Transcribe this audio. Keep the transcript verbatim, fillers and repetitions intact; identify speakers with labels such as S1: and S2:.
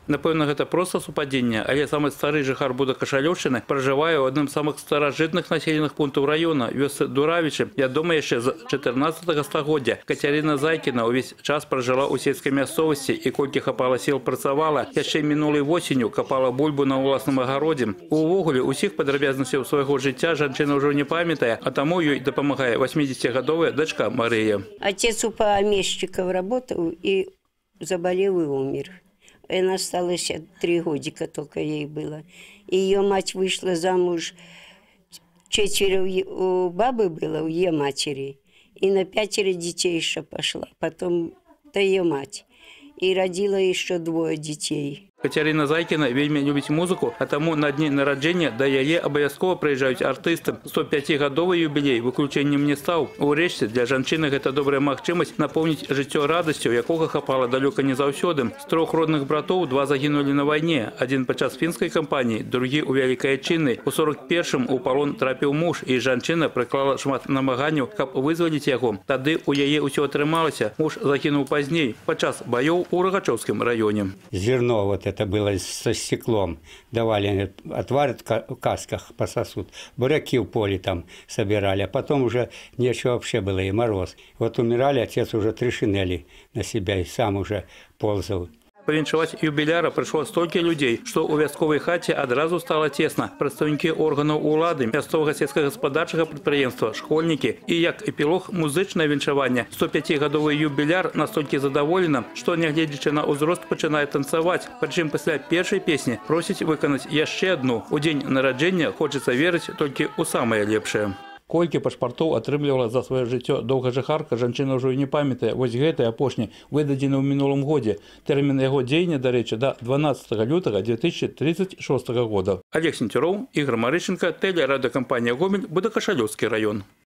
S1: Напэўна, гэта проста супадзенне, але самы стары жыхар Будакашалёўшчыны пражывае ў адным з самых старажытных населеных пунктаў раёна, вёсцы Дуравічы. Вядома яшчэ з чатырнаццатага стагоддзя. Кацярына Зайкіна ўвесь час пражыла ў сельскай мясцовасці і колькі хапала сіл працавала. Яшчэ мінулай восенню капала бульбу на ўласным агародзе. Увогуле, усіх падрабязнасцяў свайго жыцця жанчына ўжо не памятае, а таму ёй дапамагае восьмидесятигадовая дачка Марыя.
S2: Отец у помещиков работал и заболел и умер. Она осталась три годика только ей было. Ее мать вышла замуж, четверо у бабы было, у ее матери. И на пятеро детей еще пошла. Потом то ее мать. И родила еще двое детей.
S1: Кацярына Зайкіна вельмі любіць музыку, а таму на дні нараджэння да яе абавязкова прыязджаюць артысты. сто пяцігадовы юбілей выключэннем не стаў. Урэшце, для жанчыны гэта добрая магчымасць напоўніць жыццё радасцю, якога хапала далёка не заўсёды. З трох родных братоў два загінулі на вайне. Адзін падчас фінскай кампаніі, другі ў Вялікай Адчыннай. У сорок першым у палон трапіў муж, і жанчына прыклала шмат намаганняў, каб вызваліць яго. Тады ў яе ўсё атрымалася. Муж загінуў пазней, падчас баёў у Рагачоўскім раёне.
S3: Зерно вот это было со стеклом. Давали, отварят в касках, пососут. Буряки в поле там собирали. А потом уже нечего вообще было, и мороз. Вот умирали, отец уже три шинели на себя и сам уже ползал.
S1: Павіншаваць юбіляра прыйшло столькі людзей, што ў вясковай хаце адразу стала цесна. Прадстаўнікі органаў улады, мясцовага сельскагаспадарчага прадпрыемства, школьнікі і як эпілог музычнае віншаванне. сто пяцігадовы юбіляр настолькі задаволена, што нягледзячы на ўзрост пачынае танцаваць. Прычым пасля першай песні просіць выканаць яшчэ адну. У дзень нараджэння хочацца верыць толькі ў самае лепшае. Колькі пашпартоў атрымлівала за сваё жыццё доўгажыхарка, жанчына ўжо і не памятае. Вось гэты апошні выдадзены ў мінулым годзе. Тэрмін яго дзеяння, дарэчы, да дванаццатага лютага две тысячи тридцать шестого года. Олег Сенцюроў, Ігор Марышченко, тэлерадыёкампанія «Гомель», Будакашалёўскі раён.